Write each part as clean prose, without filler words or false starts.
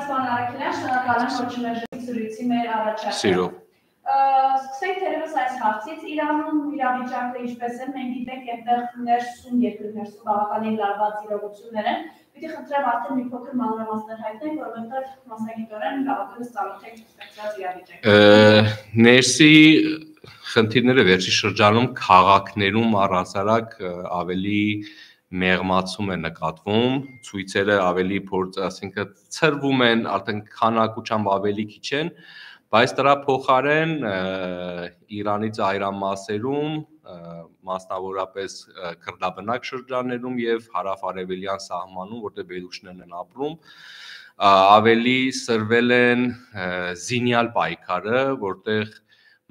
Պարոն Արաքելյան, շնորհակալ եմ, որ չմերժեցիք զրույցի մեր առաջարկը։ Սիրով։ Սկսենք թերևս այս հարցից, Իրանում իրավիճակը ինչպես է, մենք գիտենք, այնտեղ ներսում, երկրի ներսում բավականին լարված իրողություններ են, պիտի խնդրեմ արդեն մի փոքր մանրամասներ հայտնենք, որովհետև մասնագիտորեն բավականին ծանոթ եք ստեղծված իրավիճակը։ Ներսի խնդիրները վերջի շրջանում քաղաքներում առհասարակ ավելի մեղմացում է նկատվում, ցույցերը ավելի ասինքն ցրվում են, արդեն քանակությամբ ավելի քիչ են, բայց դրա փոխարեն Իրանի ծայրամասերում, մասնավորապես քրդաբնակ շրջաններում եւ հարավ-արևելյան սահմանում, որտեղ բելուչներն են ապրում, ավելի սրվել են զինյալ պայքարը, որտեղ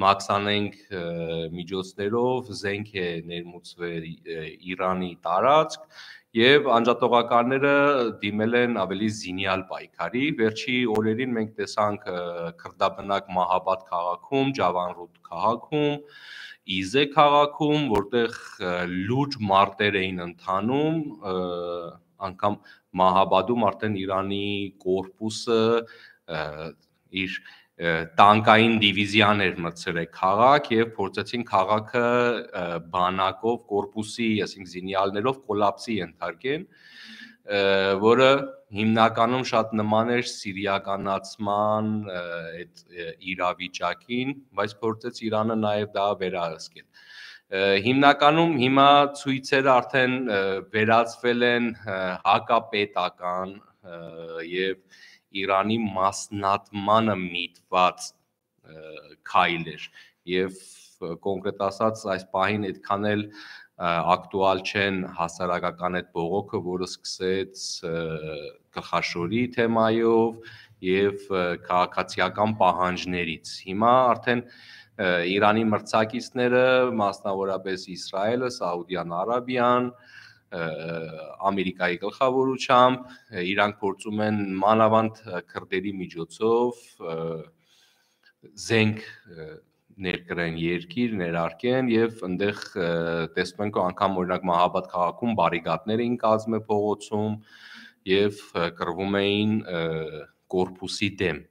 մաքսանենք միջոցներով զենք է ներմուծվել Իրանի տարածք եւ անջատողականները դիմել են ավելի զինյալ պայքարի։ Վերջի օրերին մենք տեսանք քրդաբնակ Մահաբադ քաղաքում, Ջավանրուդ քաղաքում, Իզե քաղաքում, որտեղ լուրջ մարտեր էին ընթանում, անգամ Մահաբադում արդեն Իրանի կորպուսը իր տանկային դիվիզիաներ մտցրել քաղաք եւ փորձեցին քաղաքը բանակով կորպուսի, ասենք զինյալներով կոլապսի ենթարկեն, որը հիմնականում շատ նման էր սիրիականացման այդ իրավիճակին, բայց փորձեց Իրանը նաեւ դա վերահսկել։ Հիմնականում հիմա ցույցերը արդեն վերածվել են հակապետական եւ Իրանի մասնատմանը միտված քայլեր եւ կոնկրետ ասած այս պահին այդքան էլ ակտուալ չեն հասարակական այդ բողոքը, որը սկսեց գլխաշորի թեմայով եւ քաղաքացիական պահանջներից։ Հիմա արդեն Իրանի մրցակիցները, մասնավորապես Իսրայելը, Սաուդյան Արաբիան, Ամերիկայի գլխավորությամբ, իրանք փորձում են մանավանդ քրդերի միջոցով զենք ներկրեն երկիր, ներարկեն եւ այնտեղ տեսնում ենք անգամ օրինակ Մահաբադ քաղաքում բարիկադներ էին կազմել փողոցում եւ կռվում էին կորպուսի դեմ։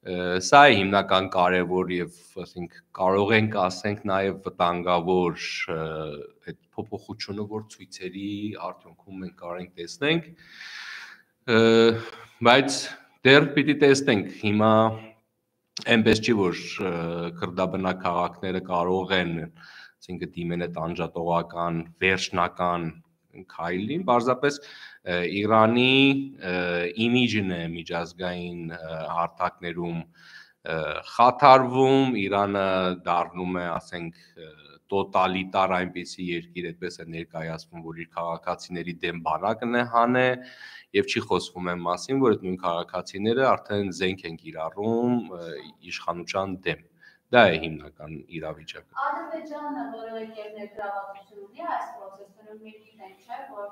Սա է հիմնական կարևոր եւ ասենք կարող ենք ասենք նաեւ վտանգավոր այդ փոփոխությունը, որ ցույցերի արդյունքում մենք կարող ենք տեսնենք, բայց դեռ պիտի տեսնենք հիմա այնպես չի, որ քրդաբնակ քաղաքները կարող են, ասենք դիմեն այդ անջատողական վերջնական քայլին, պարզապես Իրանի իմիջն է միջազգային հարթակներում խաթարվում, Իրանը դառնում է, ասենք, տոտալիտար այնպիսի երկիր, այդպես է ներկայացվում, որ իր քաղաքացիների դեմ բանակն է հանե եւ չի խոսվում այն մասին, որ այդ նույն քաղաքացիները արդեն զենք են կիրառում իշխանության դեմ։ Դա է հիմնական իրավիճակը։ Ադրբեջանը որևէ կերպ ներգրավվածություն ունի այս process-ում, մենք գիտենք, չէ, որ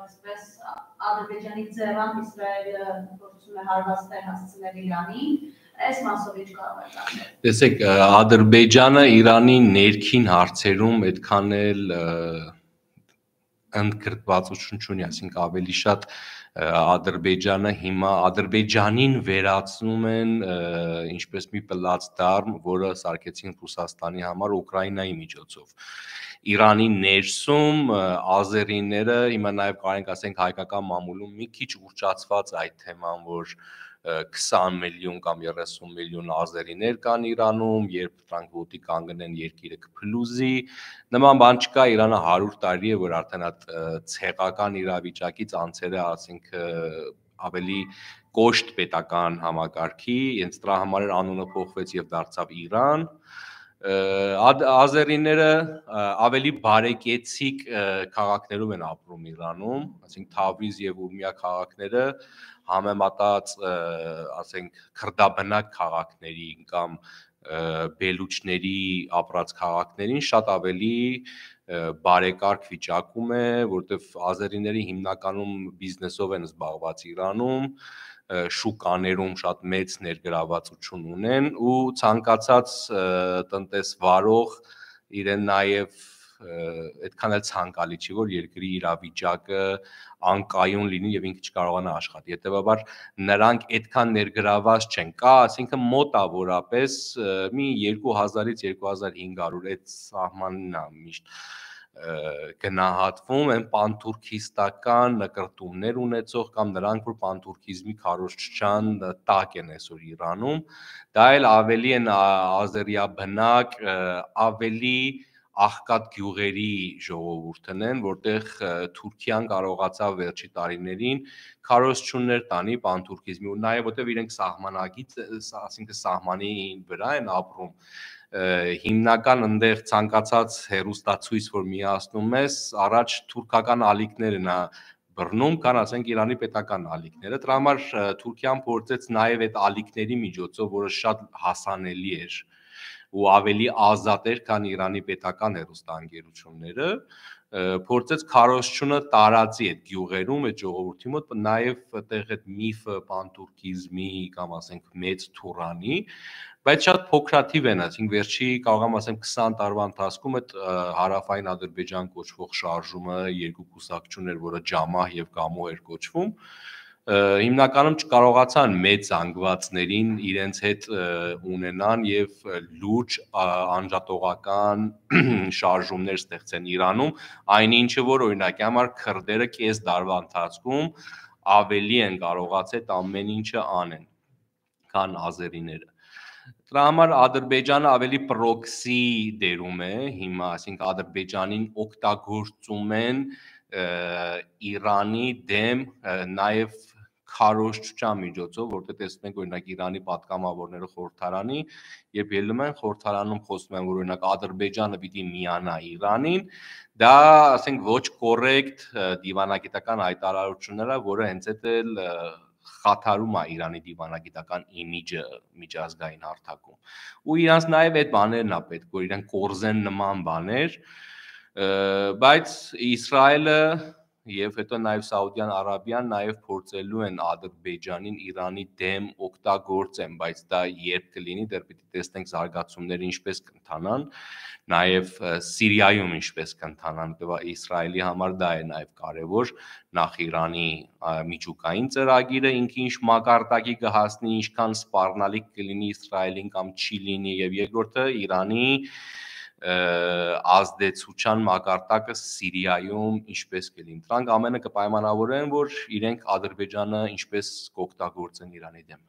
այսպես Ադրբեջանի ձեռամբ Իսրայելը փորձում է հարվածներ հասցնել Իրանին, այս մասով ինչ կարող է անել։ Տեսեք, Ադրբեջանը Իրանի ներքին հարցերում այդքան էլ ընդգրկվածություն չունի, այսինքն ավելի շատ Ադրբեջանը հիմա Ադրբեջանին վերացնում են ինչպես մի պլացդարմ, որը սարքեցին Ռուսաստանի համար Ուկրաինայի միջոցով։ Իրանի ներսում ազերիները հիմա նաև կարող ենք ասենք հայկական մամուլում մի քիչ ուռճացված այդ թեման, որ 20 միլիոն կամ 30 միլիոն ազերիներ կան Իրանում, երբ դրանք ոտի կանգնեն երկիրը կփլուզի, նման բան չկա, Իրանը 100 տարի է, որ արդեն այդ ցեղական իրավիճակից անցել է, ասենք ավելի կոշտ պետական համակարգի, հենց դրա համար անունը փոխվեց եւ դարձավ Իրան։ Ազերիները ավելի բարեկեցիկ քաղաքներում են ապրում Իրանում, ասենք Թավրիզ եւ Ուրմիա քաղաքները համեմատած, ասենք քրդաբնակ քաղաքների կամ բելուչների ապրած քաղաքներին շատ ավելի բարեկարգ վիճակում է, որտեվ ազերիները հիմնականում բիզնեսով են զբաղված Իրանում, շուկաներում շատ մեծ ներգրավվածություն ունեն ու ցանկացած տնտեսվարող իրեն նաև այդքան էլ ցանկալի չի, որ երկրի իրավիճակը անկայուն լինի եւ ինքը չկարողանա աշխատի։ Հետեւաբար նրանք այդքան ներգրաված չեն։ Կա, ասինքն մոտ է որապես մի 2000-ից 2500 այդ սահմանն է միշտ գնահատվում են պանթուրքիստական նկրտումներ ունեցող կամ նրանք, որ պանթուրքիզմի քարոզչության տակ են այսօր Իրանում, դա էլ ավելի են ազերիաբնակ, ավելի աղքատ գյուղերի ժողովուրդն են, որտեղ Թուրքիան կարողացավ վերջի տարիներին քարոզչություններ տանի պանթուրքիզմի ու նաև որտեղ իրենք սահմանագից, ասինքն սահմանի վրա են ապրում, հիմնական ընդեղ ցանկացած հերոստացույց, որ միացնում ես, առաջ թուրքական ալիքներ են բռնում, կան ասենք Իրանի պետական ալիքները, դրա համար Թուրքիան փորձեց նաև այդ ալիքների միջոցով, որը շատ հասանելի էր ու ավելի ազատ էր, քան Իրանի պետական հերոստանգերությունները, փորձեց քարոզչությունը տարածի այդ գյուղերում, այդ ժողովրդի մոտ, նաև այդտեղ այդ միֆը պանթուրքիզմի կամ ասենք մեծ թուրանի, բայց շատ փոքրաթիվ են, ասենք վերջի կարող եմ ասեմ 20 տարվա ընթացքում այդ հարավային Ադրբեջան կոչվող շարժումը երկու կուսակցություն էր, որը Ջամահ եւ Գամո էր կոչվում, հիմնականում չկարողացան մեծ զանգվածներին իրենց հետ ունենան եւ լուրջ անջատողական շարժումներ ստեղծեն Իրանում, այնինչը որ օրինակի համար քրդերը կես դարվա ընթացքում ավելի են կարողացել ամեն ինչը անեն, քան ազերիները։ Դրա համար Ադրբեջանը ավելի պրոքսի դերում է հիմա, այսինքն Ադրբեջանին օգտագործում են Իրանի դեմ նաև քարոզչության միջոցով, որտեղ տեսնում ենք օրինակ Իրանի պատգամավորները խորհրդարանի, երբ ելնում են խորհրդարանում խոսում են, որ օրինակ Ադրբեջանը պիտի միանա Իրանին, դա ասենք ոչ կոռեկտ դիվանագիտական հայտարարություններ է, որը հենց այդ էլ խաթարում է Իրանի դիվանագիտական իմիջը միջազգային հարթակում։ Ու իրանց նաև այդ բաներն է պետք, որ իրենք կորզեն նման բաներ, բայց Իսրայելը եւ հետո նաև Սաուդյան Արաբիան նաև փորձելու են Ադրբեջանին Իրանի դեմ օգտագործեն, բայց դա երբ կլինի, դեռ պիտի տեսնենք զարգացումները ինչպես կընթանան, նաև Սիրիայում ինչպես կընթանան, Իսրայելի համար դա է նաև կարևոր, նախ Իրանի միջուկային ծրագիրը ինքը ինչ մակարդակի կհասնի, ինչքան սպառնալիք կլինի Իսրայելին կամ չի լինի, եւ երկրորդը Իրանի ազդեցության մակարդակը Սիրիայում ինչպես կլինի։ Դրանք ամենը կպայմանավորեն, որ իրենք Ադրբեջանը ինչպես կօգտագործեն Իրանի դեմ։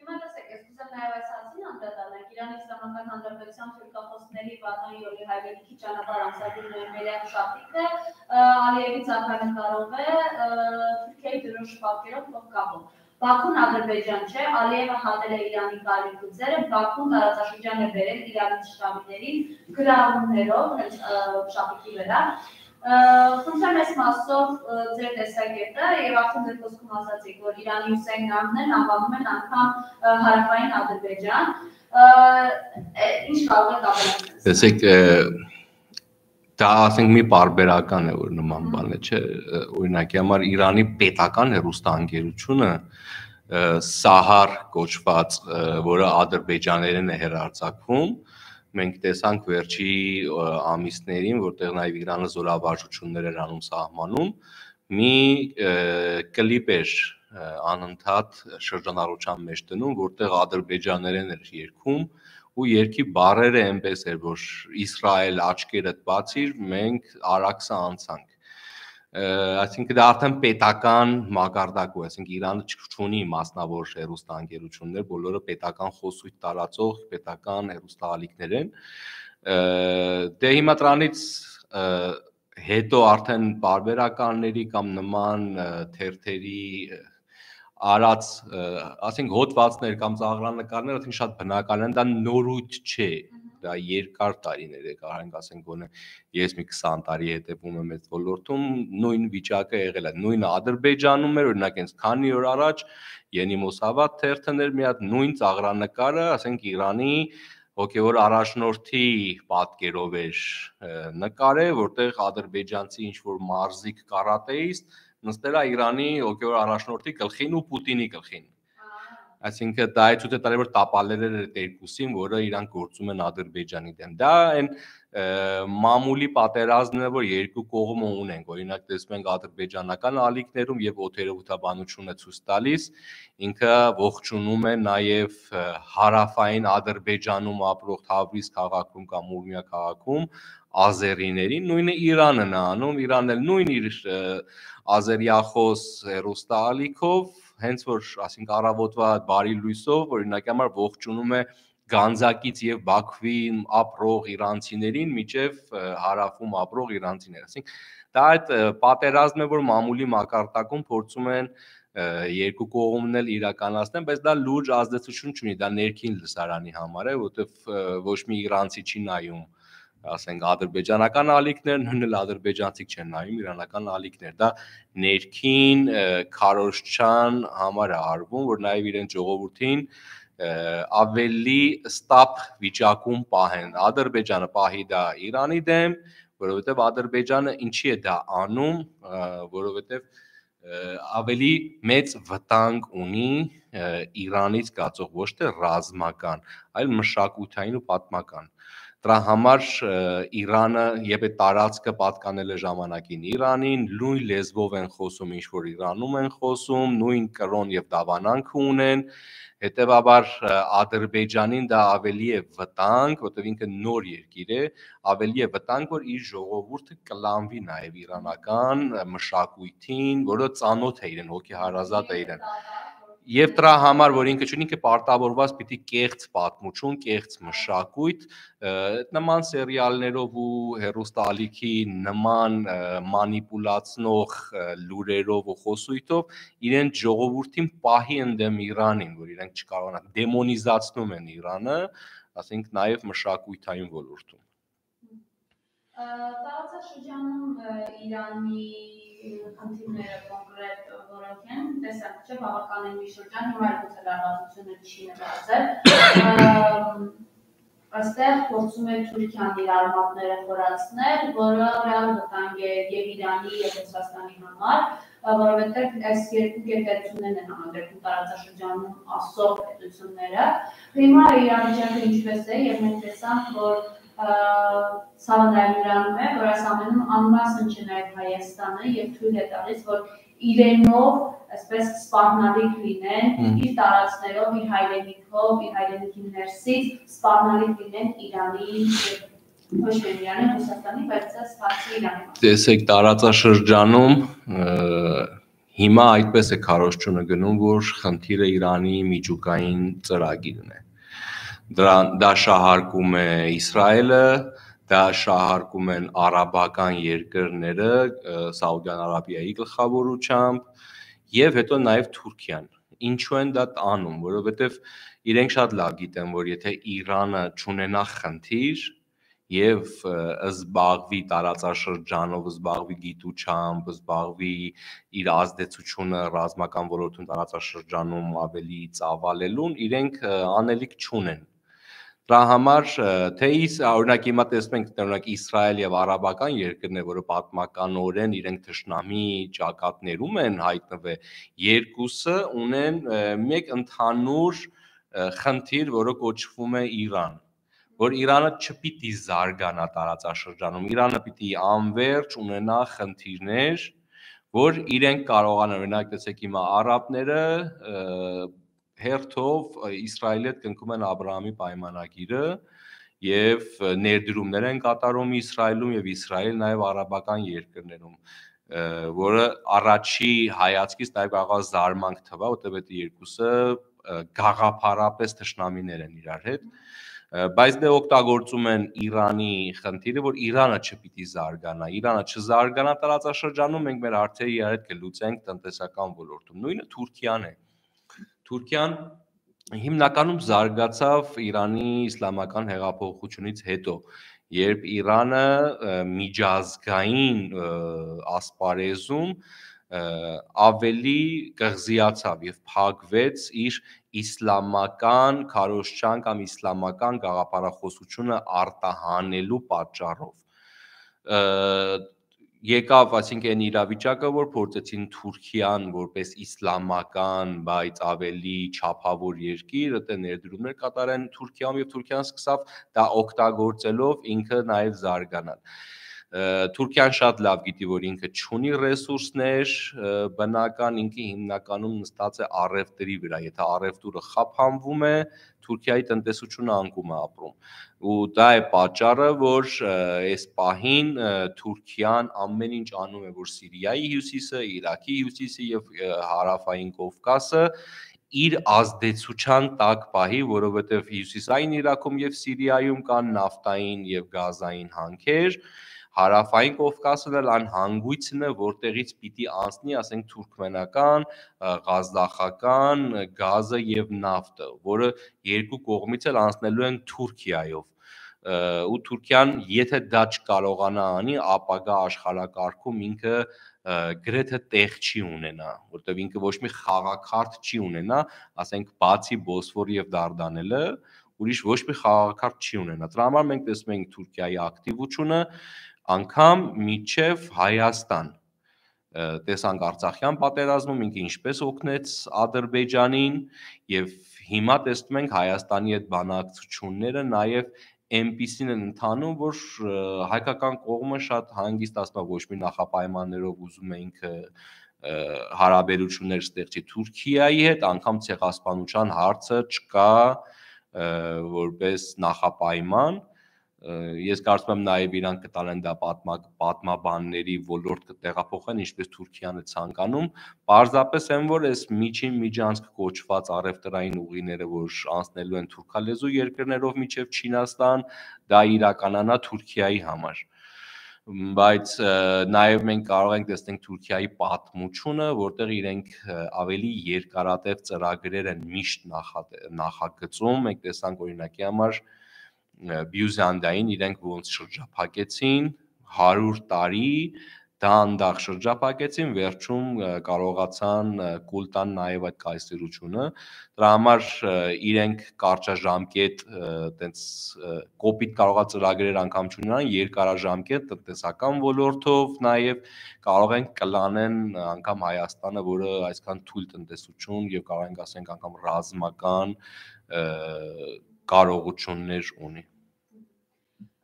Հիմա տեսեք, ես ուզում նաև այս հարցին անդրադառնալ Իրանի Իսլամական Հանրապետության թուրքախոսների Վատան Յոլի հայրենիքի ճանապարհ ամսագրի նոյեմբերյան շաբաթը Ալիևի ցանկանկարով է Թուրքիայի դրոշ պատկերով փոխկապում։ Բաքուն Ադրբեջան չէ, Ալիևը հատել է Իրանի կարիք ուծերը, Բաքուն տարածաշրջան է բերել Իրանի շտաբիներին գրառումներով, հենց շաբաթի վրա։ Խնդրեմ այս մասով ձեր տեսակետը եւ արդեն ձեր խոսքում ասացիք, որ Իրանի Հուսեյն Նամն անվանում են անգամ հարավային Ադրբեջան, ինչ կարող եք ավելացնել։ Տեսեք, դա ասենք մի պարբերական է, որ նման բան է, չէ, օրինակի համար Իրանի պետական հեռուստաընկերությունը Սահար կոչված, որը ադրբեջաներեն է հեռարձակվում, մենք տեսանք վերջի ամիսներին, որտեղ նաև Իրանը զորավարժություններ էր անում սահմանում, մի կլիպ էր անընդհատ շրջանառության մեջ դնում, որտեղ ադրբեջաներեն էր երգում ու երկի բառերը այնպես էր, որ Իսրայել աչքերդ բացիր, մենք Արաքսը անցանք։ Այսինքն դա արդեն պետական մակարդակու է, այսինքն Իրանը չունի մասնավոր հեռուստաընկերություններ, բոլորը պետական խոսույթ տարածող պետական հեռուստաալիքներ են։ Դե հիմա դրանից հետո արդեն բարբերականների կամ նման թերթերի արած, ասենք հոդվածներ կամ ծաղրանկարները արդեն շատ բնական են, դա նորույթ չէ, դա երկար տարիներ է, կարող ենք ասենք գոնե ես մի 20 տարի հետևում եմ այդ ոլորտում, նույն վիճակը եղել է, նույնը Ադրբեջանում էր, օրինակ հենց քանի օր առաջ Ենի Մոսավաթ թերթն էր մի հատ նույն ծաղրանկարը, ասենք Իրանի հոգևոր առաջնորդի պատկերով էր նկարել, որտեղ ադրբեջանցի ինչ-որ մարզիկ կարատեիստ նստել է Իրանի հոգևոր առաջնորդի գլխին ու Պուտինի գլխին։ Այսինքն դա է ցույց է տալի, որ տապալել էր այդ երկուսին, որը իրանք գործում են Ադրբեջանի դեմ։ Դա այն մամուլի պատերազմն է, որ երկու կողմը ունեն, օրինակ տեսնում ենք ադրբեջանական ալիքներում եւ օթերոթաբանությունը ցույց տալիս, ինքը ողջունում է նաեւ հարավային Ադրբեջանում ապրող Թավրիզ քաղաքում կամ Ուրմիա քաղաքում ազերիներին, նույնը Իրանն է անում, Իրանն էլ նույն իր ազերիախոս հերոստալիքով, հենց որ ասենք առավոտվա բարի լույսով օրինակի համար ողջունում է Գանձակից եւ Բաքվի ապրող իրանցիներին միջև հարավում ապրող իրանցիներ, ասենք դա այդ պատերազմն է, որ մամուլի մակարդակում փորձում են երկու կողմն էլ իրականացնեն, բայց դա լուրջ ազդեցություն չունի, դա ներքին լսարանի համար է, որովհետեւ ոչ մի իրանցի չի նայում, ասենք ադրբեջանական ալիքներ, նույնն էլ ադրբեջանցիք չեն նայում իրանական ալիքներ, դա ներքին քարոզչության համար է արվում, որ նաեւ իրեն ժողովրդին ավելի ստապ վիճակում պահեն, Ադրբեջանը պահի դա Իրանի դեմ, որովհետև Ադրբեջանը ինչի է դա անում, որովհետև ավելի մեծ վտանգ ունի Իրանից գացող ոչ թե ռազմական, այլ մշակութային ու պատմական։ Դրա համար Իրանը եւ այդ տարածքը պատկանել է ժամանակին Իրանին, նույն լեզվով են խոսում, ինչ որ Իրանում են խոսում, նույն կրոն եւ դավանանք ունեն, հետեւաբար Ադրբեջանին դա ավելի է վտանգ, որտեղ ինքը նոր երկիր է, ավելի է վտանգ, որ իր ժողովուրդը կլանվի նաեւ իրանական մշակույթին, որը ծանոթ է իրեն, հոգեհարազատ է իրեն։ Եվ դրա համար, որ ինքը չունի, ինքը պարտավորված պիտի կեղծ պատմություն, կեղծ մշակույթ, նման սերիալներով ու հերոստալիքի նման մանիպուլացնող լուրերով ու խոսույթով իրեն ժողովրդին պահի ընդդեմ Իրանին, որ իրենք չկարողանան, դեմոնիզացնում են Իրանը, ասենք նաև մշակույթային ոլորտում։ Տարածաշրջանում Իրանի խնդիրները կոնկրետ որոնք են, տեսակ չէ, բավականին մի շրջան, հիմա գուցե լարվածությունը չի նվազել, այստեղ փորձում է Թուրքիան իր արմատները խորացնել, որը ռեալ վտանգ է եւ Իրանի եւ Ռուսաստանի համար, որովհետեւ այս երկու գերտերություններն են համադրվում տարածաշրջանում ասող պետությունները։ Հիմա իրավիճակը ինչպես է եւ մենք տեսանք, որ ցավը նաև նրանում է, որ այս ամենում անմասն չէ նաև Հայաստանը եւ թույլ է տալիս, որ իրենով այսպես սպառնալիք լինեն իր տարածքներով, իր հայրենիքով, իր հայրենիքի ներսից սպառնալիք լինեն Իրանի ոչ միայն Իրանի, Ռուսաստանի, բայց սպասի Իրանի։ Տեսեք տարածաշրջանում հիմա այդպես է քարոզչությունը գնում, որ խնդիրը Իրանի միջուկային ծրագիրն է։ Դա շահարկում է Իսրայելը, դա շահարկում են արաբական երկրները Սաուդյան Արաբիայի գլխավորությամբ եւ հետո նաեւ Թուրքիան։ Ինչու են դա անում, որովհետեւ իրենք շատ լավ գիտեն, որ եթե Իրանը չունենա խնդիր եւ զբաղվի տարածաշրջանով, զբաղվի գիտությամբ, զբաղվի իր ազդեցությունը ռազմական ոլորտում տարածաշրջանում ավելի ծավալելուն, իրենք անելիք չունեն։ Դրա համար թե օրինակ հիմա տեսնում ենք օրինակ Իսրայել եւ արաբական երկրներ, որը պատմականորեն իրենք թշնամի ճակատներում են հայտնվել, երկուսը ունեն մեկ ընդհանուր խնդիր, որը կոչվում է Իրան, որ Իրանը չպիտի զարգանա տարածաշրջանում, Իրանը պիտի անվերջ ունենա խնդիրներ, որ իրենք կարողանան, օրինակ տեսեք հիմա արաբները հերթով Իսրայելի հետ կնքում են Աբրահամի պայմանագիրը եւ ներդրումներ են կատարում Իսրայելում եւ Իսրայել նաեւ արաբական երկրներում, որը առաջի հայացքից նաեւ կարող է զարմանք թվա, որտեղ այդ երկուսը գաղափարապես թշնամիներ են իրար հետ, բայց դե օգտագործում են Իրանի խնդիրը, որ Իրանը չպիտի զարգանա, Իրանը չզարգանա տարածաշրջանում, մենք մեր հարցերը իրար հետ կլուծենք տնտեսական ոլորտում, նույնը Թուրքիան է։ Թուրքիան հիմնականում զարգացավ Իրանի իսլամական հեղափոխությունից հետո, երբ Իրանը միջազգային ասպարեզում ավելի կղզիացավ եւ փակվեց իր իսլամական քարոզչության կամ իսլամական գաղափարախոսությունը արտահանելու պատճառով։ եկավ, այսինքն այն իրավիճակը, որ փորձեցին Թուրքիան որպես իսլամական, բայց ավելի չափավոր երկիր, դա ներդրումներ կատարեն Թուրքիայում եւ Թուրքիան սկսավ դա օգտագործելով ինքը նաեւ զարգանալ։ Թուրքիան շատ լավ գիտի, որ ինքը չունի ռեսուրսներ, բնական ինքը հիմնականում նստած է առևտրի վրա, եթե առևտուրը խափանվում է, Թուրքիայի տնտեսությունը անկում է ապրում։ Ու դա է պատճառը, որ այս պահին Թուրքիան ամեն ինչ անում է, որ Սիրիայի հյուսիսը, Իրաքի հյուսիսը եւ հարավային Կովկասը իր ազդեցության տակ պահի, որովհետեւ հյուսիսային Իրաքում եւ Սիրիայում կան նավթային եւ գազային հանքեր, հարավային Կովկասն էլ այն հանգույցն է, որտեղից պիտի անցնի, ասենք թուրքմենական, ղազախական գազը եւ նավթը, որը երկու կողմից էլ անցնելու են Թուրքիայով։ Ու Թուրքիան, եթե դա չկարողանա անի, ապագա աշխարհակարգում ինքը գրեթե տեղ չի ունենա, որտեղ ինքը ոչ մի խաղաքարտ չի ունենա, ասենք բացի Բոսֆոր եւ Դարդանելը, ուրիշ ոչ մի խաղաքարտ չի ունենա։ Դրա համար մենք տեսնում ենք Թուրքիայի ակտիվությունը անգամ միջև Հայաստան։ Տեսանք Արցախյան պատերազմում ինքը ինչպես օգնեց Ադրբեջանին եւ հիմա տեսնում ենք Հայաստանի այդ բանակցությունները նաեւ այնպիսին են ընթանում, որ հայկական կողմը շատ հանգիստ ասում է, ոչ մի նախապայմաններով ուզում է ինքը հարաբերություններ ստեղծի Թուրքիայի հետ, անգամ ցեղասպանության հարցը չկա որպես նախապայման։ Ես կարծում եմ նաև իրանք կտանեն դա պատմաբանների ոլորտ կտեղափոխեն, ինչպես Թուրքիան է ցանկանում, պարզապես այն որ այս միջին միջանցք կոչված առևտրային ուղիները, որ անցնելու են թուրքալեզու երկրներով մինչև Չինաստան, դա իրականանա Թուրքիայի համար։ Բայց նաև մենք կարող ենք տեսնել Թուրքիայի պատմությունը, որտեղ իրենք ավելի երկարատև ծրագրեր են միշտ նախագծում, մենք տեսանք օրինակի համար Բյուզանդիային իրենք ոնց շրջափակեցին 100 տարի, դանդաղ շրջափակեցին, վերջում կարողացան կուլ տան նաև այդ կայսրությունը։ Դրա համար իրենք կարճաժամկետ տենց կոպիտ կարողա ծրագրեր անգամ չունենան, երկարաժամկետ տնտեսական ոլորտով նաև կարող են կլանեն անգամ Հայաստանը, որը այսքան թույլ տնտեսություն եւ կարող ենք ասենք անգամ ռազմական կարողություններ ունի։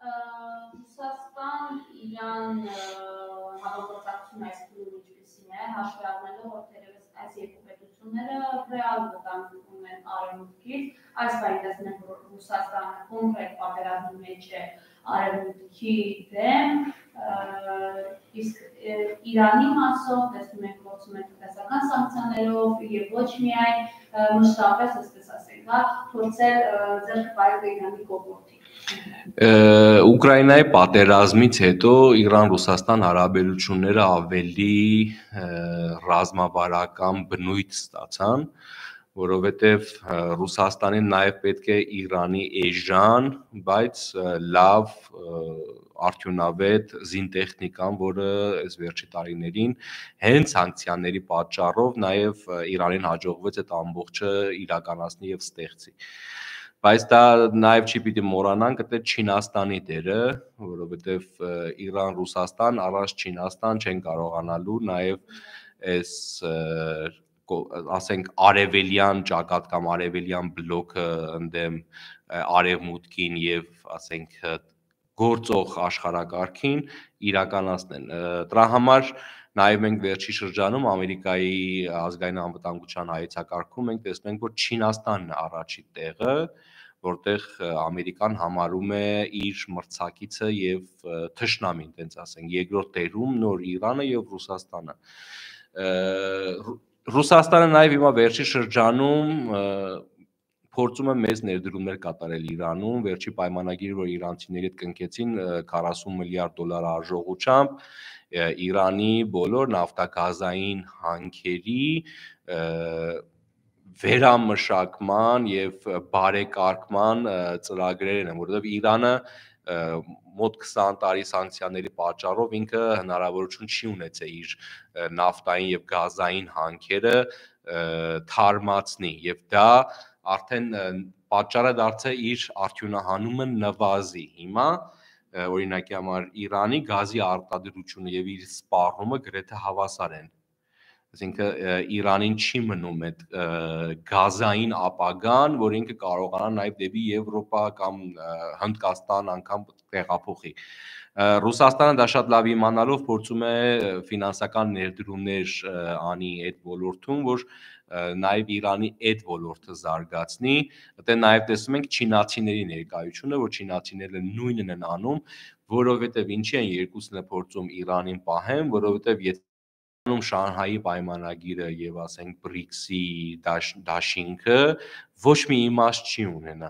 Ռուսաստան Իրան համագործակցությունը այս փուլում ինչպիսին է, հաշվի առնելով, որ թերևս այս երկու պետությունները ռեալ վտանգում են արևմուտքից, այս բանի տեսնում ենք, որ Ռուսաստանը կոնկրետ պատերազմի մեջ է արևմուտքի դեմ, իսկ Իրանի մասով տեսնում ենք գործում են տնտեսական սանկցիաներով եւ ոչ միայն մշտապես, այսպես ասենք, փորձել ձեռք բերել Իրանի կողմից։ Ուկրաինայի պատերազմից հետո Իրան-Ռուսաստան հարաբերությունները ավելի ռազմավարական բնույթ ստացան, որովհետև Ռուսաստանին նաև պետք է Իրանի էժան, բայց լավ արդյունավետ զինտեխնիկան, որը այս վերջի տարիներին հենց սանկցիաների պատճառով նաև Իրանին հաջողվեց այդ ամբողջը իրականացնի եւ ստեղծի։ Բայց դա նաև չի պիտի մոռանանք դա Չինաստանի դերը, որովհետև Իրան-Ռուսաստան առանց Չինաստան չեն կարողանալու նաև այս ասենք արևելյան ճակատ կամ արևելյան բլոկը ընդդեմ արևմուտքին եւ ասենք գործող աշխարհակարգին իրականացնեն։ Դրա համար նաև մենք վերջի շրջանում Ամերիկայի ազգային անվտանգության հայեցակարգում մենք տեսնում ենք, որ Չինաստանն է առաջի տեղը, որտեղ Ամերիկան համարում է իր մրցակիցը եւ թշնամին, տենց ասենք, երկրորդ տեղում նոր Իրանը եւ Ռուսաստանը։ Ռուսաստանը նաև հիմա վերջի շրջանում փորձում է մեծ ներդրումներ կատարել Իրանում, վերջի պայմանագիրը, որ իրանցիների հետ կնքեցին 40 միլիարդ դոլար արժողությամբ, Իրանի բոլոր նավթագազային հանքերի վերամշակման եւ բարեկարգման ծրագրերն են, որովհետեւ Իրանը մոտ 20 տարի սանկցիաների պատճառով ինքը հնարավորություն չի ունեցել իր նավթային եւ գազային հանքերը թարմացնի եւ դա արդեն պատճառը դարձել իր արդյունահանումը նվազի։ Հիմա օրինակի համար Իրանի գազի արտադրությունը եւ իր սպառումը գրեթե հավասար են։ Այսինքն Իրանին չի մնում այդ գազային ապագան, որ ինքը կարողանա նաև դեպի Եվրոպա կամ Հնդկաստան անգամ տեղափոխի։ Ռուսաստանը դա շատ լավ իմանալով փորձում է ֆինանսական ներդրումներ անի այդ ոլորտում, որ նաև Իրանի այդ ոլորտը զարգացնի։ Դե նաև տեսնում ենք չինացիների ներկայությունը, որ չինացիները նույնն են անում, որովհետև ինչի են երկուսն է փորձում Իրանին պահեն, որովհետև եթե Շանհայի պայմանագիրը եւ ասենք BRICS-ի դաշինքը ոչ մի իմաստ չի ունենա,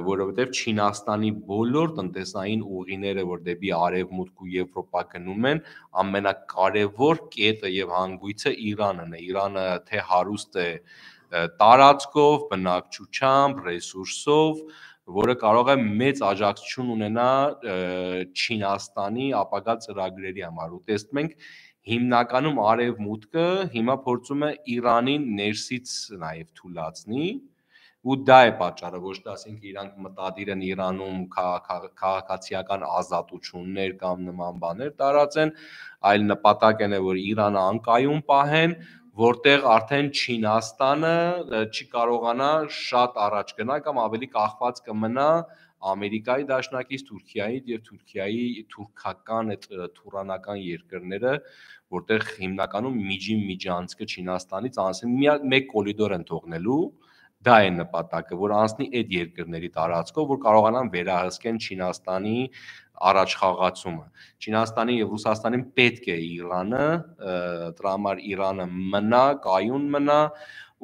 որովհետեւ Չինաստանի բոլոր տնտեսային ուղիները, որ դեպի արևմուտք ու Եվրոպա գնում են, ամենակարևոր կետը եւ հանգույցը Իրանն է։ Իրանը թե հարուստ է տարածքով, բնակչությամբ, ռեսուրսով, որը կարող է մեծ աջակցություն ունենա Չինաստանի ապագա ծրագրերի համար։ Ու տեսնում ենք հիմնականում արևմուտքը հիմա փորձում է Իրանին ներսից նաև թուլացնի ու դա է պատճառը, ոչ թե ասենք իրանք մտադիր են Իրանում քաղաքացիական ազատություններ կամ նման բաներ տարածեն, այլ նպատակն է, որ Իրանը անկայուն պահեն, որտեղ արդեն Չինաստանը չի կարողանա շատ առաջ գնալ կամ ավելի կախված կմնա Ամերիկայի դաշնակից, Թուրքիայից եւ Թուրքիայի թուրքական այդ թուրանական երկրները, որտեղ հիմնականում միջանցքը Չինաստանից անցնի մեկ կորիդոր են թողնելու, դա է նպատակը, որ անցնի այդ երկրների տարածքով, որ կարողանան վերահսկեն Չինաստանի առաջխաղացումը։ Չինաստանի եւ Ռուսաստանին պետք է Իրանը, դրա համար Իրանը մնա, կայուն մնա,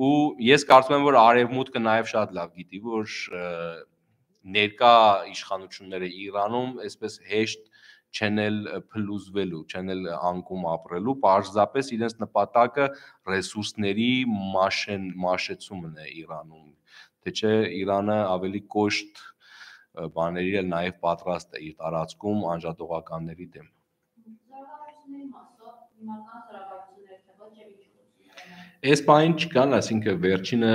ու ես կարծում եմ, որ արևմուտքը նաև շատ լավ գիտի, որ ներկա իշխանությունները Իրանում այսպես հեշտ չեն էլ փլուզվելու, չեն էլ անկում ապրելու, պարզապես իրենց նպատակը ռեսուրսների մաշեցումն է Իրանում, թե չէ Իրանը ավելի կոշտ բաների էլ նաև պատրաստ է իր տարածքում անջատողականների դեմ։ Զարգացումների մասով հիմնական զարգացումներ թե ոչ եւ ինչ։ Այս բանին չկան, այսինքն վերջինը,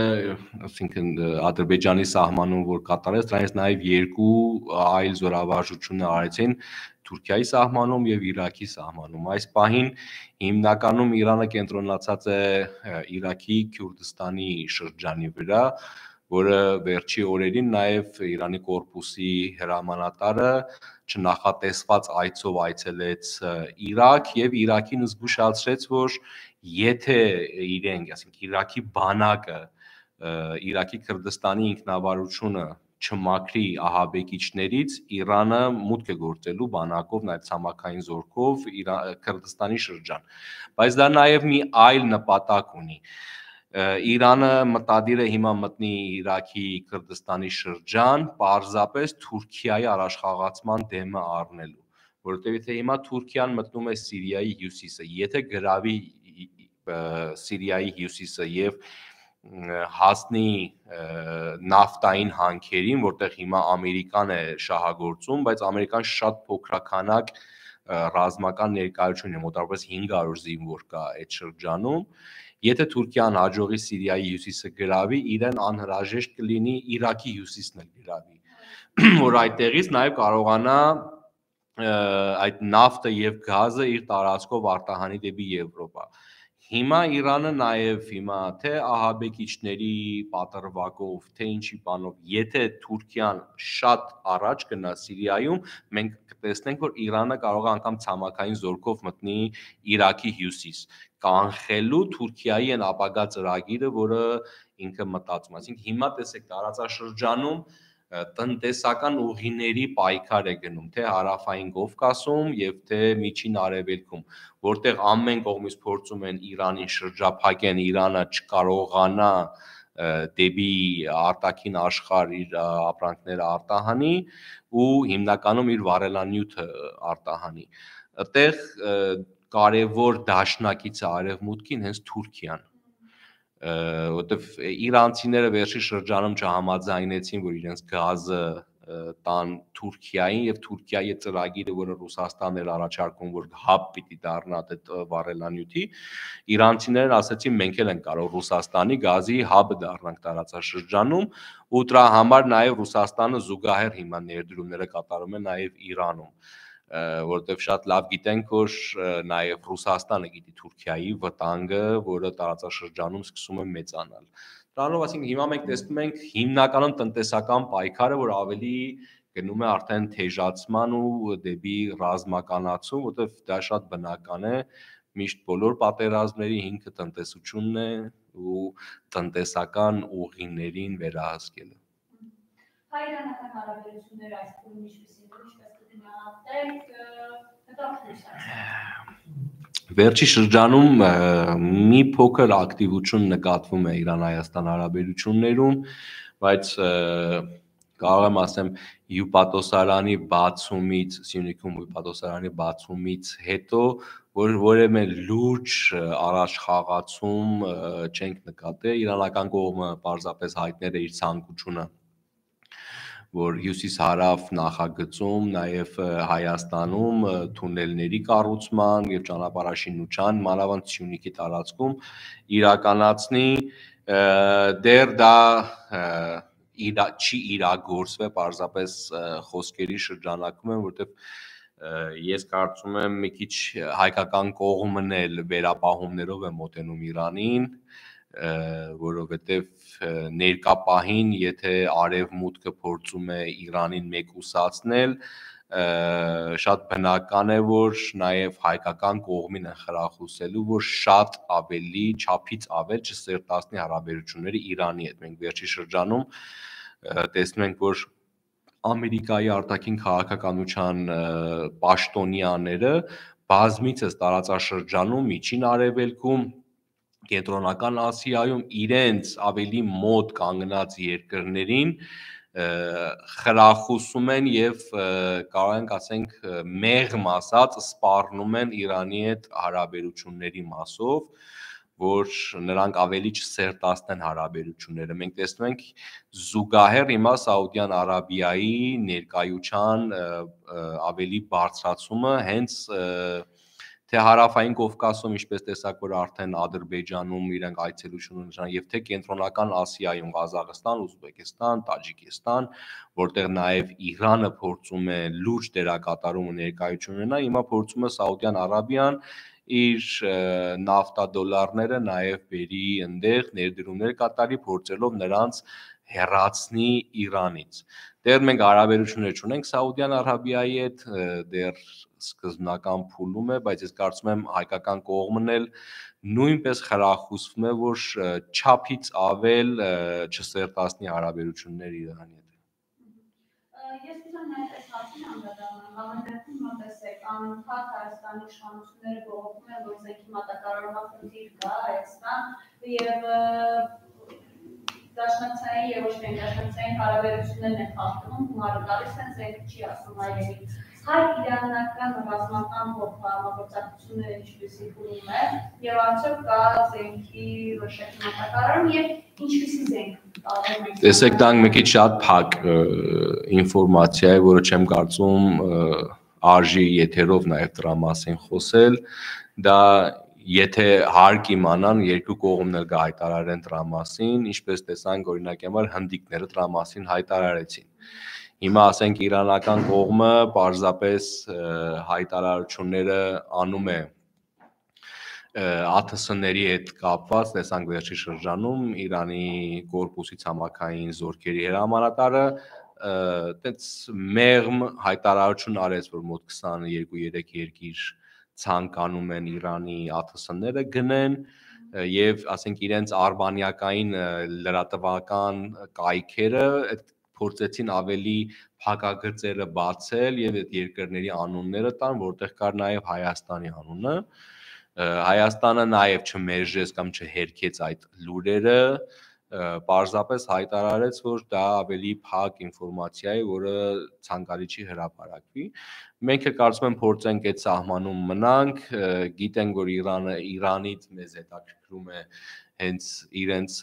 այսինքն Ադրբեջանի սահմանում որ կատարեց, դրանից նաև երկու այլ զորավարժություններ արեցին Թուրքիայի սահմանում եւ Իրաքի սահմանում։ Այս պահին հիմնականում Իրանը կենտրոնացած է Իրաքի Քուրդիստանի շրջանի վրա, որը վերջի օրերին նաև Իրանի կորպուսի հրամանատարը չնախատեսված այցով այցելեց Իրաք եւ Իրաքին զգուշացրեց, որ եթե իրենք, ասենք Իրաքի բանակը, Իրաքի Քրդստանի ինքնավարությունը չմաքրի ահաբեկիչներից, Իրանը մուտք է գործելու բանակով, նաև ցամաքային զորքով Քրդստանի շրջան։ Բայց դա նաև մի այլ նպատակ ունի։ Իրանը մտադիր է հիմա մտնի Իրաքի Քրդստանի շրջան, պարզապես Թուրքիայի առաջխաղացման դեմը առնելու, որովհետև եթե հիմա Թուրքիան մտնում է Սիրիայի հյուսիսը, եթե գրավի Սիրիայի հյուսիսը եւ հասնի նավթային հանքերին, որտեղ հիմա Ամերիկան է շահագործում, բայց Ամերիկան շատ փոքրականակ ռազմական ներկայություն է, մոտավորապես 500 զինվոր կա այդ շրջանում, եթե Թուրքիան հաջողի Սիրիայի հյուսիսը գրավի, իրեն անհրաժեշտ կլինի Իրաքի հյուսիսն էլ գրավի, որ այդտեղից նաև կարողանա այդ նավթը եւ գազը իր տարածքով արտահանի դեպի Եվրոպա։ Հիմա Իրանը նաև հիմա թե ահաբեկիչների պատրվակով, թե ինչի բանով, եթե Թուրքիան շատ առաջ գնա Սիրիայում, մենք կտեսնենք, որ Իրանը կարող է անգամ ցամաքային զորքով մտնի Իրաքի հյուսիս, կանխելու Թուրքիայի այն ապագա ծրագիրը, որը ինքը մտածում է։ Այսինքն հիմա տեսեք տարածաշրջանում տնտեսական ուղիների պայքար է գնում, թե հարավային Կովկասում եւ թե միջին արևելքում, որտեղ ամեն կողմից փորձում են Իրանին շրջափակեն, Իրանը չկարողանա դեպի արտաքին աշխարհ իր ապրանքները արտահանի ու հիմնականում իր վառելանյութը արտահանի։ Այդտեղ կարևոր դաշնակիցը արևմուտքին հենց Թուրքիան, որտեվ իրանցիները վերջի շրջանում չհամաձայնեցին, որ իրենց գազը տան Թուրքիային եւ Թուրքիայի ծրագիրը, որը Ռուսաստանն էր առաջարկում, որ հաբ պիտի դառնա այդ վառելանյութի, իրանցիներն ասացին մենք էլ ենք կարող Ռուսաստանի գազի հաբը դառնանք տարածաշրջանում ու դրա համար նաեւ Ռուսաստանը զուգահեռ հիմա ներդրումները կատարում է նաեւ Իրանում, որտեղ շատ լավ գիտենք, որ նաև Ռուսաստանը գիտի Թուրքիայի վտանգը, որը տարածաշրջանում սկսում է մեծանալ։ Դրանով, այսինքն հիմա մենք տեսնում ենք հիմնականում տնտեսական պայքարը, որ ավելի գնում է արդեն թեժացման ու դեպի ռազմականացում, որտեղ դա շատ բնական է, միշտ բոլոր պատերազմների հիմքը տնտեսությունն է ու տնտեսական ուղիներին վերահսկելը։ Հայ-իրանական հարաբերությունները այս փուլում ինչպես կդիմացեք, Վերջի շրջանում մի փոքր ակտիվություն նկատվում է Իրան-Հայաստան հարաբերություններում, բայց կարող եմ ասեմ հյուպատոսարանի բացումից, Սյունիքում հյուպատոսարանի բացումից հետո որևէ լուրջ առաջխաղացում չենք նկատել, իրանական կողմը պարզապես հայտնել է իր ցանկությունը, որ հյուսիս-հարավ նախագծում, նաև Հայաստանում թունելների կառուցման եւ ճանապարհաշինության, մանավանդ Սյունիքի տարածքում իրականացնի, դեռ դա չի իրագործվել, պարզապես խոսքերի շրջանակում են, որտեղ ես կարծում եմ մի քիչ հայկական կողմն էլ վերապահումներով է մոտենում Իրանին, որովհետև ներկա պահին, եթե արևմուտքը փորձում է Իրանին մեկուսացնել, շատ բնական է, որ նաև հայկական կողմին են խրախուսելու, որ շատ ավելի, չափից ավել չսերտացնի հարաբերությունները Իրանի հետ։ Մենք վերջի շրջանում տեսնում ենք, որ Ամերիկայի արտաքին քաղաքականության պաշտոնյաները բազմիցս տարածաշրջանում, Միջին Արևելքում, Կենտրոնական Ասիայում իրենց ավելի մոտ կանգնած երկրներին խրախուսում են եւ կարող ենք ասենք մեղմ ասած սպառնում են Իրանի հետ հարաբերությունների մասով, որ նրանք ավելի չսերտացնեն հարաբերությունները։ Մենք տեսնում ենք զուգահեռ հիմա Սաուդյան Արաբիայի ներկայության ավելի բարձրացումը հենց թե հարավային Կովկասում, ինչպես տեսակ, որ արդեն Ադրբեջանում իրենք այցելություն ունեն, եւ թե կենտրոնական Ասիայում Ղազախստան, Ուզբեկստան, Տաջիկստան, որտեղ նաեւ Իրանը փորձում է լուրջ դերակատարում ու ներկայություն ունենա, հիմա փորձում է Սաուդյան Արաբիան իր նավթադոլարները նաև բերի ընդեղ ներդրումներ կատարի, փորձելով նրանց հեռացնի Իրանից։ Դեռ մենք հարաբերություններ չունենք Սաուդյան Արաբիայի հետ, դեռ սկզբնական փուլում է, բայց ես կարծում եմ հայկական կողմն էլ նույնպես խրախուսվում է, որ չափից ավել չսերտացնի հարաբերությունները Իրանի հետ։ Ես ուզում եմ այս հարցին անդրադառնալ, համենայնիվ մտածեք, անընդհատ Հայաստանի իշխանությունները բողոքում են, որ զենքի մատակարարման խնդիր կա Հայաստան եւ դաշնակցային եւ ոչ միայն դաշնակցային հարաբերություններն են խախտում, գումարը գալիս են, զենքը չի ասում այլևի։ Հայ-իրանական ռազմական համագործակցությունները ինչպեսի փուլում է եւ արդյոք կա զենքի որոշակի մատակարարում եւ ինչպեսի զենք կա։ Տեսեք, դա մի քիչ շատ փակ ինֆորմացիա է, որը չեմ կարծում արժի եթերով նաև դրա մասին խոսել, դա եթե հարկ իմանան, երկու կողմն էլ կհայտարարեն դրա մասին, ինչպես տեսանք օրինակ համար հնդիկները դրա մասին հայտարարեցին։ Հիմա ասենք իրանական կողմը պարզապես հայտարարությունները անում է ԱԹՍ-ների հետ կապված, տեսանք վերջի շրջանում Իրանի կորպուսի ցամաքային զորքերի հրամանատարը այդպես մեղմ հայտարարություն արեց, որ մոտ 22-3 երկիր ցանկանում են Իրանի ԱԹՍ-ները գնեն եւ ասենք իրենց արբանյակային լրատվական կայքերը փորձեցին ավելի փակագծերը բացել եւ այդ երկրների անունները տան, որտեղ կար նաեւ Հայաստանի անունը։ Հայաստանը նաեւ չմերժեց կամ չհերքեց այդ լուրերը, պարզապես հայտարարեց, որ դա ավելի փակ ինֆորմացիա է, որը ցանկալի չի հրապարակվի։ Մենք էլ կարծում եմ փորձենք այդ սահմանում մնանք, գիտենք, որ Իրանից մեզ հետաքրքրում է հենց իրենց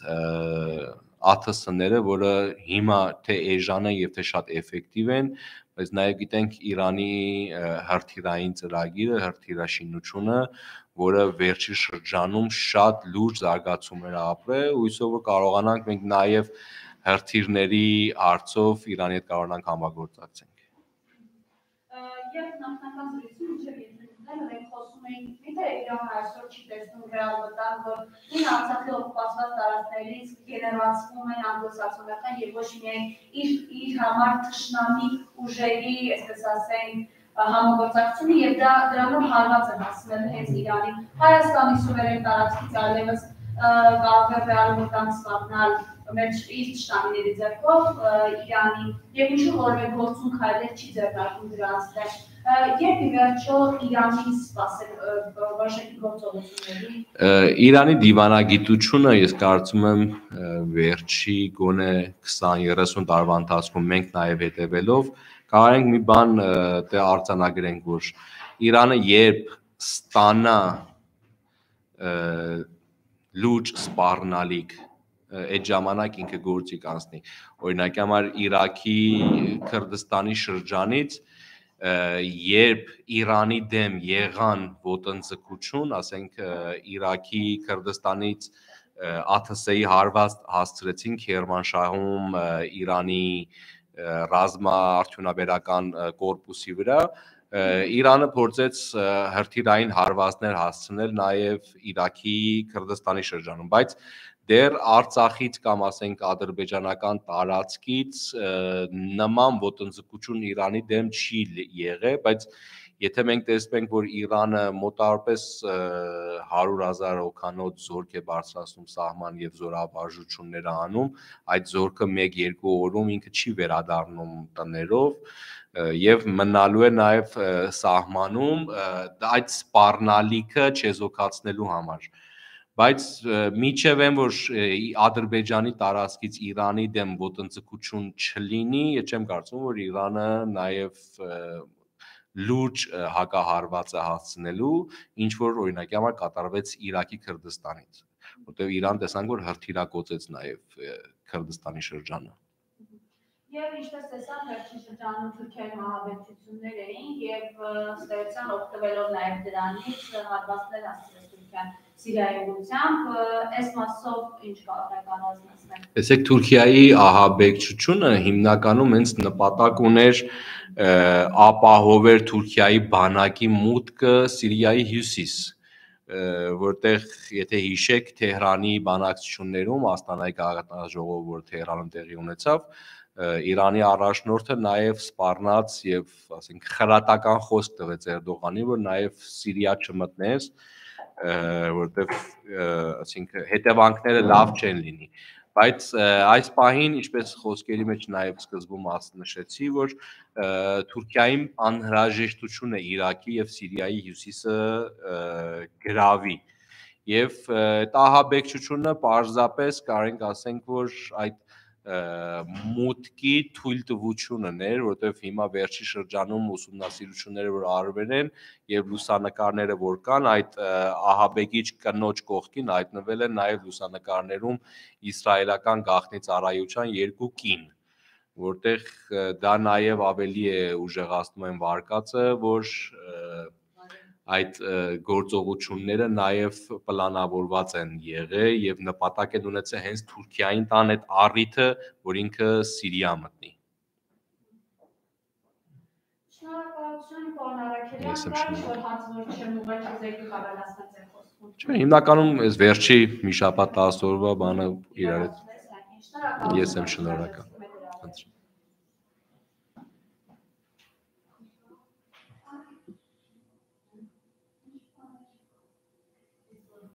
ԱԹՍ-ները, որը հիմա թե էժան են եւ թե շատ էֆեկտիվ են, բայց նաեւ գիտենք Իրանի հրթիռային ծրագիրը, հրթիռաշինությունը, որը վերջի շրջանում շատ լուրջ զարգացումներ ապրել, հույսով որ կարողանանք մենք նաեւ հրթիռների հարցով Իրանի հետ կարողանանք համագործակցենք։ Եվ նախնական զրույցում մինչև եթերում մենք խոսում էինք, միթե Իրանը այսօր չի տեսնում ռեալ վտանգ, որ ինը Արցախի օկուպացված տարածքներից գեներացվում են անգլոսաքսոնական եւ ոչ միայն իր համար թշնամի ուժերի, այսպես ասենք, համագործակցությունը եւ դա դրանով հարված է հասնել հենց Իրանին։ Հայաստանի սուվերեն տարածքից այլևս կարող է ռեալ վտանգ ստանալ մեր իր թշնամիների ձեռքով Իրանին եւ ինչու որևէ գործուն քայլեր չի ձեռնարկում դրանց դեմ։ Երբ ի վերջո Իրանին սպասել որոշակի գործողությունների։ Իրանի դիվանագիտությունը ես կարծում եմ վերջի գոնե 20-30 տարվա ընթացքում մենք նաեւ հետևելով կարող ենք մի բան դե արձանագրենք, որ Իրանը երբ ստանա լուրջ սպառնալիք այդ ժամանակ ինքը գործի կանցնի։ Օրինակ համար Իրաքի Քրդստանի շրջանից երբ Իրանի դեմ եղան ոտնձգություն, ասենք Իրաքի Քրդստանից ԱԹՍ-ի հարված հասցրեցին Քերմանշահում Իրանի ռազմաարդյունաբերական կորպուսի վրա, Իրանը փորձեց հրթիռային հարվածներ հասցնել նաև Իրաքի Քրդստանի շրջանում, բայց դեռ Արցախից կամ ասենք ադրբեջանական տարածքից նման ոտնձգություն Իրանի դեմ չի եղել, բայց եթե մենք տեսնենք, որ Իրանը մոտավորապես 100,000 հոգանոց զորք է բարձրացնում սահման եւ զորավարժություններ անում, այդ զորքը 1-2 օրում ինքը չի վերադառնում տներով եւ մնալու է նաեւ սահմանում այդ սպառնալիքը չեզոքացնելու համար, բայց միջև են որ Ադրբեջանի տարածքից Իրանի դեմ ոտնձգություն չլինի, ես չեմ կարծում որ Իրանը նաեւ լուրջ հակահարված է հասցնելու, ինչ որ օրինակի համար կատարվեց Իրաքի Քրդստանից, որտեղ Իրան տեսանք որ հրթիռակոծեց նաեւ Քրդստանի շրջանը։ Եվ ինչպես տեսանք, վերջին շրջանում Թուրքիայի մահաբեկչություններ էին եւ ստեղծան օգտվելով նաեւ դրանից հարվածներ հասցրեց Թուրքիան Սիրիայի ուղղությամբ, այս մասով ինչ կարող եք առանձնացնել։ Տեսեք, Թուրքիայի ահաբեկչությունը հիմնականում հենց նպատակ ուներ ապահովել Թուրքիայի բանակի մուտքը Սիրիայի հյուսիս, որտեղ եթե հիշեք Թեհրանի բանակցություններում Աստանայի քաղաքաժողով, որ Թեհրանում տեղի ունեցավ, Իրանի առաջնորդը նաև սպառնաց եւ ասենք խրատական խոսք տվեց Էրդողանին, որ նաև Սիրիա չմտնես, որտեղ ասենք հետևանքները լավ չեն լինի, բայց այս պահին, ինչպես խոսքերի մեջ նաև սկզբում նշեցի, որ Թուրքիային անհրաժեշտություն է Իրաքի եւ Սիրիայի հյուսիսը գրավի եւ ահաբեկչությունը պարզապես կարող ենք ասենք, որ այդ մուտքի թույլտվությունն էր, որտեղ հիմա վերջի շրջանում ուսումնասիրությունները որ արվել են եւ լուսանկարները որ կան, այդ ահաբեկիչ կնոջ կողքին հայտնվել են նաեւ լուսանկարներում իսրայելական գաղտնի ծառայության 2 կին, որտեղ դա նաեւ ավելի է ուժեղացնում են վարկածը, որ այդ գործողությունները նաև պլանավորված են եղել եւ նպատակ են ունեցել հենց Թուրքիային տան այդ առիթը, որ ինքը Սիրիա մտնի։ Շնորհակալություն, պարոն Արաքելյան, որ հազվոր չեմ ուղղակի զեկի կավելացնել ձեր խոսքում։ Չէ, հիմնականում այս վերջի մի շաբաթ 10 օրվա բանը իրար հետ։ Ես եմ շնորհակալ։